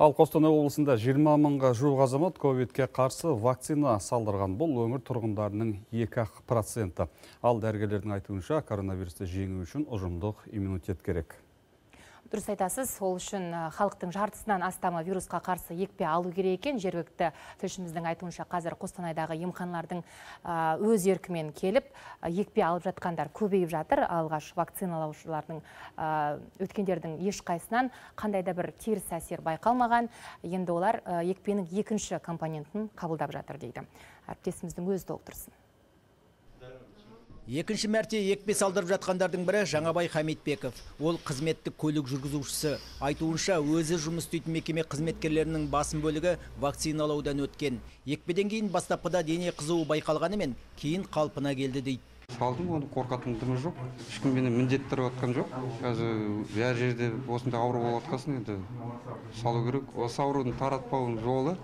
Ал Қостанай облысында 20 мыңға жуық азамат ковидке қарсы вакцина салдырған. Бұл өңір тұрғындарының 2%. Ал дәрігерлердің айтуынша коронавирусты жеңу үшін ұжымдық иммунитет керек. Дұрыс айтасыз, сол үшін халықтың жартысынан астамы вирусқа қарсы екпе алу керек екен. Жергілікті тілшіміздің айтуынша қазір Қостанайдағы емханалардың өз еркімен келіп, екпе алып жатқандар көбейіп жатыр. Алғаш вакциналаушылардың өткендердің ешқайсынан қандай да бір теріс әсер байқалмаған. Енді олар екпенің екінші компонентін қабылдап жатыр дейді. Әріптесіміздің өзі толықтырсын. Екінші мәрте екпе салдырып жатқандардың бірі Жаңабай Хамитбеков. Ол қызметтік көлік жүргізушісі. Айтуынша, өзі жұмыс істейтін мекеме қызметкерлерінің басым бөлігі вакциналаудан өткен. Екпеден кейін бастапқыда дене қызуы байқалғанымен, кейін қалпына келді дейді. Салдым, оны қорқатын дымы жоқ. Ешкім мені міндеттіріп отқан жоқ. Қазір бәр жерде осындай ауру болып отқасын, енді салу керек. Осы аурудың таратпауының жолы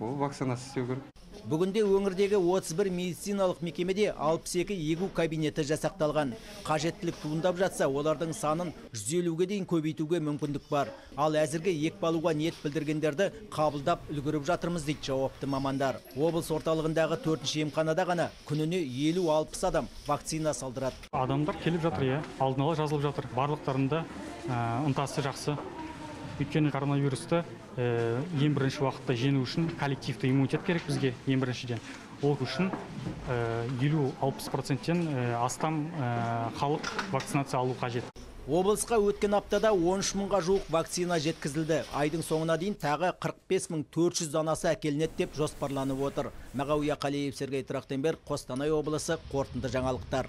ол вакцинация істеу керек. Бүгінде өңірдегі 31 медициналық мекемеде 62 егу кабинеті жасақталған. Қажеттілік туындап жатса, олардың санын 150-ге дейін көбейтуге мүмкіндік бар. Ал әзірге екпе алуға ниет білдіргендерді қабылдап үлгеріп жатырмыз дейді жауапты мамандар. Облыс орталығындағы 4-ші емханада ғана күніне 50-60 адам вакцина салдырады. Адамдар келіп жатыр, алдын ала жазылып жатыр. Барлықтарында ынтасы жақсы. Өйткені коронавирусты ең бірінші уақытта жеңу үшін коллективті иммунитет керек бізге ең біріншіден. Ол үшін 50-60%-тен астам халық вакцинация алу қажет. Облысқа өткен аптада 13 мыңға жуық вакцина жеткізілді. Айдың соңына дейін тағы 45.400 данасы әкелінеді деп жоспарланып отыр. Мағауия Қалиев, Сергей Трахтенберг, Қостанай облысы, қорытынды жаңалықтар.